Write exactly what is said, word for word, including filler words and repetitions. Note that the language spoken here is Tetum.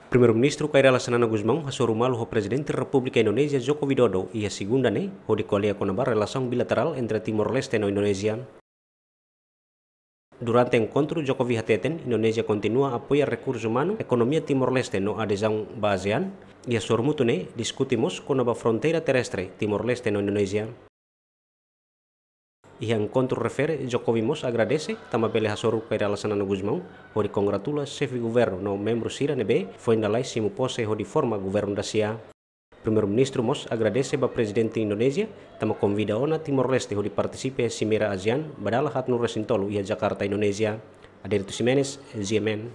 Primeiru-Ministru Kay Rala Xanana Gusmão hasoru malu ho Prezidente Repúblika Indonézia Joko Widodo iha segunda ne'e, hodi ko'alia kona-ba relasaun bilaterál entre Timor-Leste no Indonézia. Durante enkontru, Jokowi hateten Indonézia kontinua apoia rekursu umanu, ekonomia Timor-Leste no adezaun ba ASEAN. Iha sorumutu ne'e diskute mós kona-ba fronteira terrestre Timor-Leste no Indonézia. Iha enkontru refere, Jokowi mós agradese tanba bele hasoru Kay Rala Xanana Gusmão hodi kongratula xefe governu no membru sira ne'ebé foin lalais simu pose hodi forma governu dasia. Primeiru-Ministru mós agradese ba Prezidente Indonézia tanba konvida ona Timor-Leste hodi partisipa iha Simeira ASEAN ba dala haat nulu resin tolu iha Jakarta, Indonézia. Adérito Ximenes, G M N.